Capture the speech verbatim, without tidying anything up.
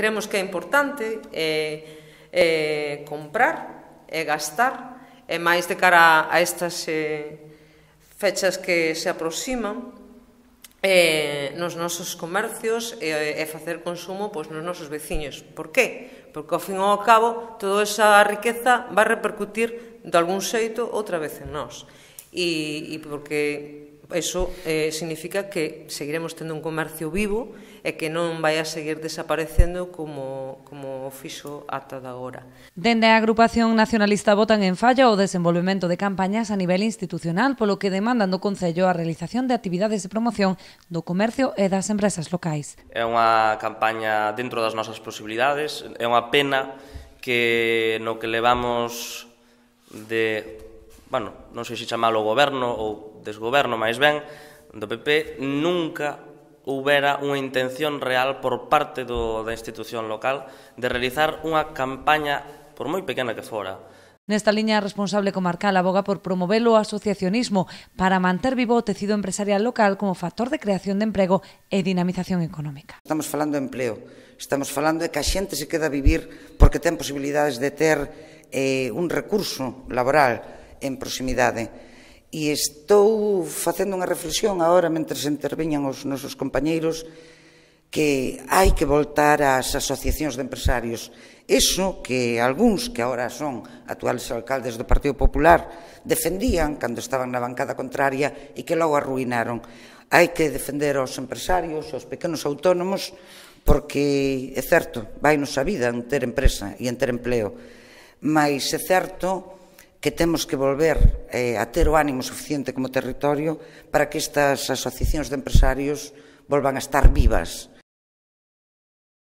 creemos que é importante eh, eh, comprar e gastar, e máis de cara a estas eh, fechas que se aproximan, eh, nos nosos comercios e, e facer consumo pois, nos nosos veciños. Por qué? Porque, ao fin e ao cabo, toda esa riqueza vai repercutir de algún xeito outra vez en nós. E, e porque iso eh, significa que seguiremos tendo un comercio vivo e que non vai a seguir desaparecendo como, como o fixo ata de agora. Dende a agrupación nacionalista botan en falla o desenvolvemento de campañas a nivel institucional, polo que demandan do Concello a realización de actividades de promoción do comercio e das empresas locais. É unha campaña dentro das nosas posibilidades, é unha pena que no que levamos de, bueno, non sei se chamalo goberno ou desgoberno máis ben, do P P, nunca houbera unha intención real por parte do, da institución local de realizar unha campaña, por moi pequena que fora. Nesta liña, a responsable comarcal aboga por promover o asociacionismo para manter vivo o tecido empresarial local como factor de creación de emprego e dinamización económica. Estamos falando de empleo, estamos falando de que a xente se queda a vivir porque ten posibilidades de ter eh, un recurso laboral en proximidade. E estou facendo unha reflexión agora, mentre interviñan os nosos compañeiros, que hai que voltar ás asociacións de empresarios. Eso que algúns, que agora son actuales alcaldes do Partido Popular, defendían cando estaban na bancada contraria e que logo arruinaron. Hai que defender aos empresarios, aos pequenos autónomos, porque é certo, vai nos a vida en ter empresa e en ter empleo, mas é certo que temos que volver eh, a ter o ánimo suficiente como territorio para que estas asociacións de empresarios volvan a estar vivas